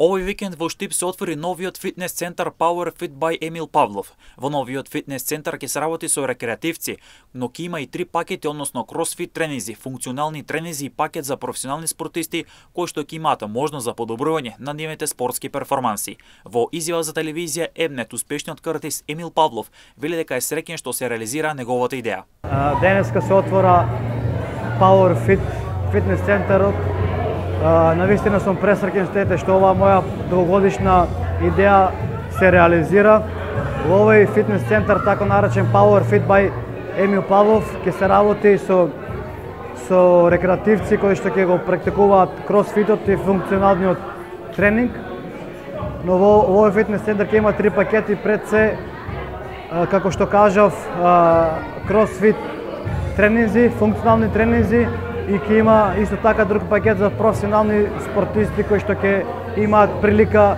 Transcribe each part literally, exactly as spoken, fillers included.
Овој викенд во Штип се отвори новиот фитнес центар Power Fit by Емил Павлов. Во новиот фитнес центар ќе се работи со рекреативци, но ќе има и три пакети, односно кросфит тренинзи, функционални тренинзи и пакет за професионални спортисти кои што ќе имаат можност за подобрување на нивните спортски перформанси. Во изјава за телевизија Ебнет, успешниот картист Емил Павлов вели дека е среќен што се реализира неговата идеја. Денеска се отвора Power Fit фитнес центарот. Навистина сум пресреќен што што оваа моја долгогодишна идеја се реализира. Во овој фитнес центар, тако наречен Power Fit by Емил Павлов, ќе се работи со со рекреативци кои што ќе го практикуваат кросфитот и функционалниот тренинг. Но во овој фитнес центар ќе има три пакети, пред се, како што кажав, кросфит тренинзи, функционални тренинзи, и ќе има исто така друг пакет за професионални спортисти кои што ќе имаат прилика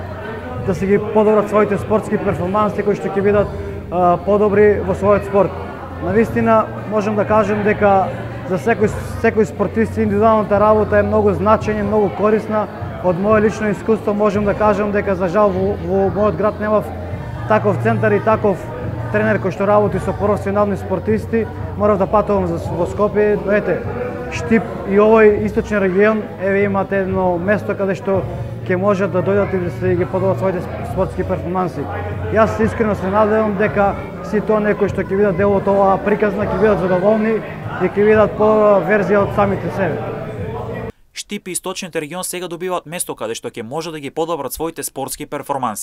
да се ги подобрат своите спортски перформанси, кои што ќе бидат а, подобри во својот спорт. Навистина можам да кажам дека за секој секој спортист индивидуалната работа е многу значајна, многу корисна. Од моје лично искуство можам да кажам дека за жал во, во мојот град немав таков центар и таков тренер кој што работи со професионални спортисти. Морав да патувам во Скопје, но ете, Штип и овој источен регион, еве имате едно место каде што ќе можат да дојдат и да се ги подобрат своите спортски перформанси. Јас искрено се надевам дека сите оние кои што ќе видат дел од оваа приказна ќе бидат задоволни и ќе видат подобра верзија од самите себе. Штип и источниот регион сега добиваат место каде што ќе може да ги подобрат своите спортски перформанси.